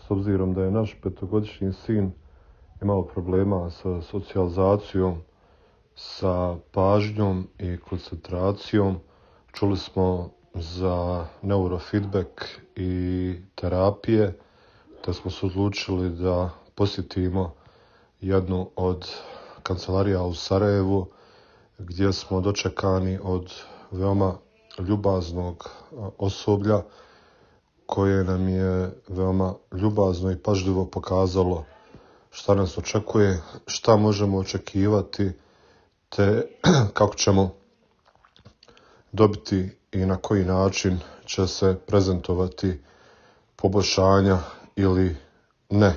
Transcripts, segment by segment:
s obzirom da je naš 5-godišnji sin imao problema sa socijalizacijom, sa pažnjom i koncentracijom. Čuli smo za neurofeedback i terapije, te smo se odlučili da posjetimo jednu od kancelarija u Sarajevu, gdje smo dočekani od veoma ljubaznog osoblja koje nam je veoma ljubazno i pažljivo pokazalo šta nas očekuje, šta možemo očekivati, te kako ćemo dobiti i na koji način će se prezentovati poboljšanja ili ne.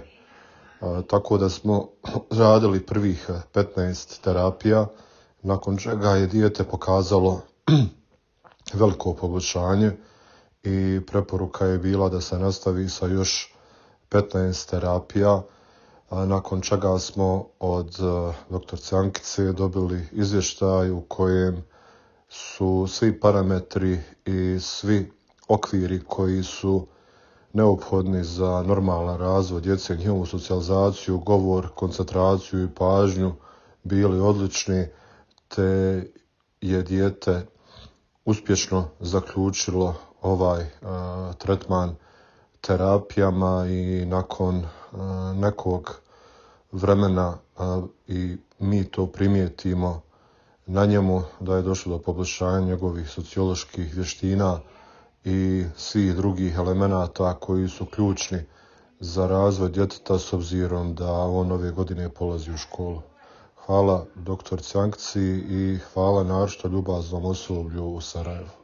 Tako da smo radili prvih 15 terapija, nakon čega je dijete pokazalo veliko poboljšanje i preporuka je bila da se nastavi sa još 15 terapija, nakon čega smo od doktorice Ankice dobili izvještaj u kojem su svi parametri i svi okviri koji su neophodni za normalan razvoj djece, njihovu socijalizaciju, govor, koncentraciju i pažnju bili odlični, te je dijete uspješno zaključilo ovaj tretman terapijama i nakon nekog vremena i mi to primijetimo na njemu da je došlo do poboljšanja njegovih socioloških vještina i svih drugih elemenata koji su ključni za razvoj djeteta s obzirom da on ove godine polazi u školu. Hvala doktorici Ankici i hvala naročito ljubaznom osoblju u Sarajevu.